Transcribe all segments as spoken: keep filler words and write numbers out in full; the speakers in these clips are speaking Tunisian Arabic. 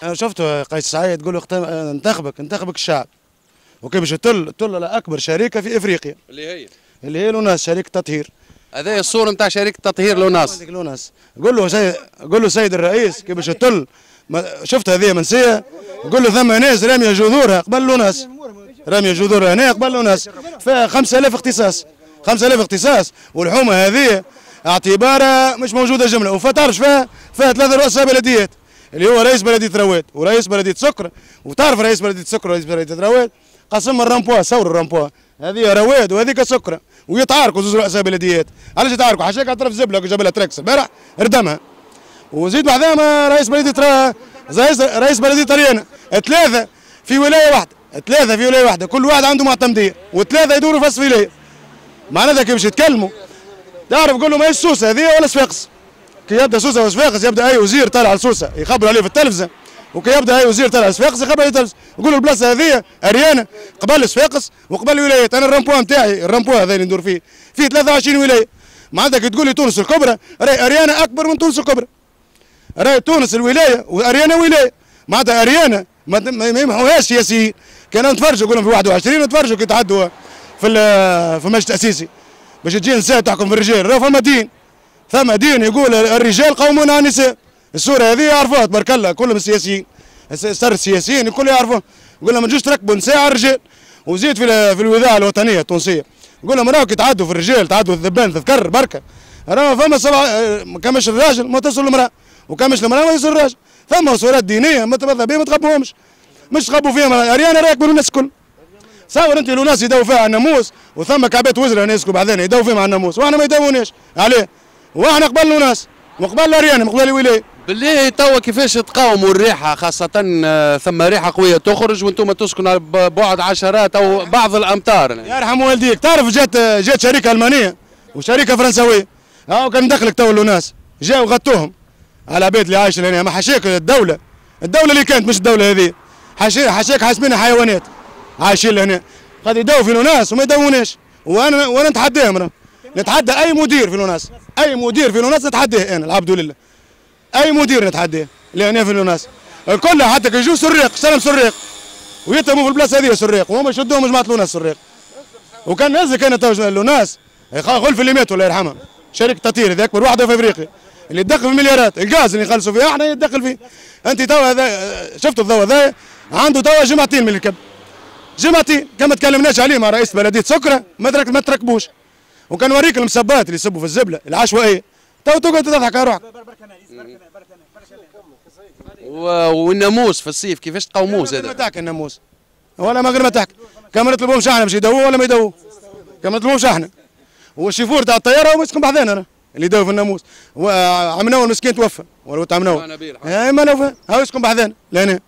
انا شفت قيس سعيد تقول له انتخبك انتخبك الشعب، وكي باش تطل تطل على اكبر شركة في افريقيا اللي هي اللي هي l'ONAS، شركة تطهير. هذا الصورة نتاع شركة تطهير l'ONAS. l'ONAS قول له سيد، قول له سيد الرئيس كي باش تطل، شفت هذه منسية، قول له ثم ناس راميه جذورها قبل l'ONAS، راميه جذورها هنا قبل l'ONAS، فيها خمسة آلاف اختصاص، خمسة آلاف اختصاص، والحومه هذه اعتبارها مش موجودة جملة، وفتعرفش فيها فيها ثلاثة رؤساء بلديات اللي هو رئيس بلديه رواد ورئيس بلديه سكر، وتعرف رئيس بلديه سكر ورئيس بلديه رواد قسم ال rond-point، صور ال rond-point، هذه رواد وهذيك سكره، ويتعاركوا زوج رؤساء بلديات. علاش يتعاركوا؟ حاشاك على طرف زبله جاب لها تراكس البارح ردمها، وزيد بعدها رئيس بلديه رئيس رئيس بلديه اريانا، ثلاثة في ولاية واحدة، ثلاثة في ولاية واحدة، كل واحد عنده معتمديه، وثلاثة يدوروا في ولاية. معناتها كي باش يتكلموا تعرف قول له ماهيش سوسة هذه ولا صفاقس. كي يبدا سوسة وصفاقس يبدا اي وزير طالع لسوسه يخبر عليه في التلفزة، وكي يبدا اي وزير طالع لصفاقس يخبر عليه في التلفزة، يقول له البلاصة هذه اريانه قبل صفاقس وقبل الولايات. انا ال rond-point نتاعي، ال rond-point هذا اللي ندور فيه فيه ثلاثة وعشرين ولاية. معناتها كي تقول لي تونس الكبرى، راهي اريانه اكبر من تونس الكبرى. راهي تونس الولاية واريانه ولاية، معناتها اريانه ما يمحوهاش سياسيين. كانوا نتفرجوا يقولوا في واحد وعشرين نتفرجوا كي تعدوا في في المجلس التاسيسي باش تجي نساء تحكم في الرجال، راه فما دين، ثم دين يقول الرجال قومون على النساء. الصورة هذه يعرفوها تبارك الله كلهم السياسيين، صار السياسيين الكل يعرفوها، يقول لهم ما تجوش تركبوا نساء على الرجال. وزيد في في الوذاعه الوطنية التونسية يقول لهم راهو كي تعدوا في الرجال تعدوا الذبان تذكر بركة، راهو فما سبعة كمش الراجل ما تصل المراة، وكمش المراة ما يصل الراجل. ثم صورات دينية ما تبذى بهم ما تغبوهمش، مش تغبوا فيهم. اريانا راهي يكبروا الناس الكل. صور انت l'ONAS يداو فيها على الناموس، وثم كعبات وزراء ناس بعدين يداو فيهم على الناموس، واحنا ما يداوناش عليه، واحنا قبل l'ONAS وقبل اريانا قبل الولاية. بالله توا كيفاش تقاوموا الريحة، خاصة ثم ريحه قوية تخرج وانتم تسكنوا على بعد عشرات او بعض الامتار؟ يرحم والديك، تعرف جات جات شركة المانية وشركه فرنسويه، هاو كان دخلك تو l'ONAS، جاوا غطوهم على العباد اللي عايشه هنا. ما حاشاك الدولة، الدولة اللي كانت مش الدولة هذه، حاشاك حاسبينها حيوانات عايشين لهنا، قد يداو في l'ONAS وما يداوناش. وانا وانا نتحداهم، انا نتحدى اي مدير في l'ONAS، اي مدير في l'ONAS نتحداه انا العبد لله، اي مدير نتحداه لهنا في l'ONAS الكل، حتى كي يجوا سراق سلام سراق ويتهموا في البلاصة هذه سراق، وهما يشدوهم جماعة l'ONAS سراق. وكان نازل كان تو l'ONAS غلف اللي ماتوا الله يرحمها، شركة تطهير هذه اكبر واحدة في افريقيا اللي تدخل في المليارات، الغاز اللي يخلصوا فيه احنا يتدخل فيه. انت تو هذا شفتوا الضوء هذا عنده توا جمعتين من الكب، جمعتين كما تكلمناش عليه مع رئيس بلديه سكره ما ترك ما تركبوش. وكان وريك المسبات اللي يسبوا في الزبله العشوائية، تو تقعد تضحك على روحك. والناموس في الصيف كيفاش تقاوموه زاد؟ ما تحكي الناموس ولا ما غير ما تحكي، كما نطلبوهمش احنا باش يدووا ولا ما يدووا، كما نطلبوهمش احنا. والشيفور تاع الطيارة هو يسكن بحذانا انا اللي يداوي في الناموس، وعمناول مسكين توفى ولا عمناول اي ما نوفى هاو يسكن بحذانا لهنا.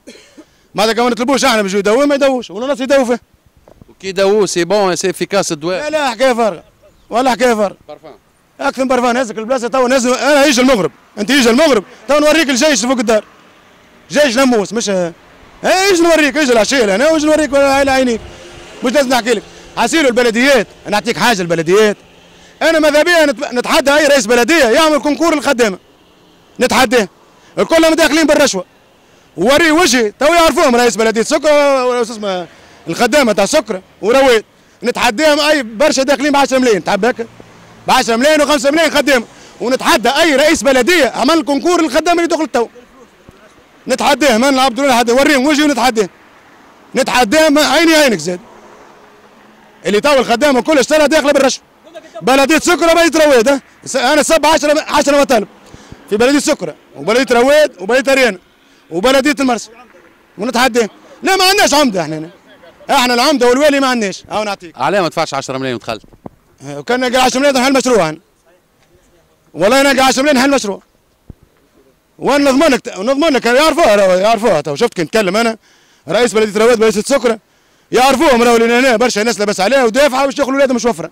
معناتها كما نطلبوش احنا باش يداووا ما يداووش، ولا الناس يداووا فيه. وكي يداووه c'est bon c'est efficace الدواء؟ لا لا حكاية فارغة ولا حكاية فارغة. بارفان اكثر من بارفان. هزك البلاصة تو نزل انا يجي المغرب، انت يجي المغرب تو نوريك الجيش فوق الدار، جيش ناموس مش اي يجي نوريك، يجي العشية لهنا ويجي نوريك على عينيك، مش لازم نحكي لك. حاسيلو البلديات، نعطيك حاجة البلديات، انا ماذا بيا نتحدى اي رئيس بلديه يعمل concours الخدامة، نتحداه، الكل داخلين بالرشوة. ووريه وجهي تو يعرفوهم رئيس بلديه سكره ولا اسمه الخدامة تاع سكره ورواد، نتحداهم اي برشا داخلين ب عشرة ملايين، تحب هكا؟ ب عشرة ملايين وخمسة ملايين خدامه، ونتحدى اي رئيس بلديه عمل concours للخدامه اللي دخلت تو. نتحداه، ما نلعب دون حد، وريهم وجهي ونتحداه. نتحداه عيني عينك زاد. اللي تو الخدامة كل اشترى داخله بالرشوة. بلديه سكره وبلديه رواد، انا سبع عشرة عشرة مطالب في بلديه سكره وبلديه رواد وبلديه اريانا وبلديه المرسى، ونتحداه. لا ما عندناش عمده احنا هنا. احنا العمدة والوالي ما عندناش، هاو نعطيك. علاه ما دفعش عشرة ملايين ودخلت؟ وكان نلقى عشرة ملايين نحل مشروع انا. والله نلقى عشرة ملايين نحل مشروع. وانا نضمن لك نضمن لك يعرفوها يعرفوها تو، شفت كي نتكلم انا رئيس بلديه رواد بلديه سكره يعرفوهم راهو هنا برشا ناس لاباس عليها ودافعه باش ياخذوا اولادهم مش وفرة.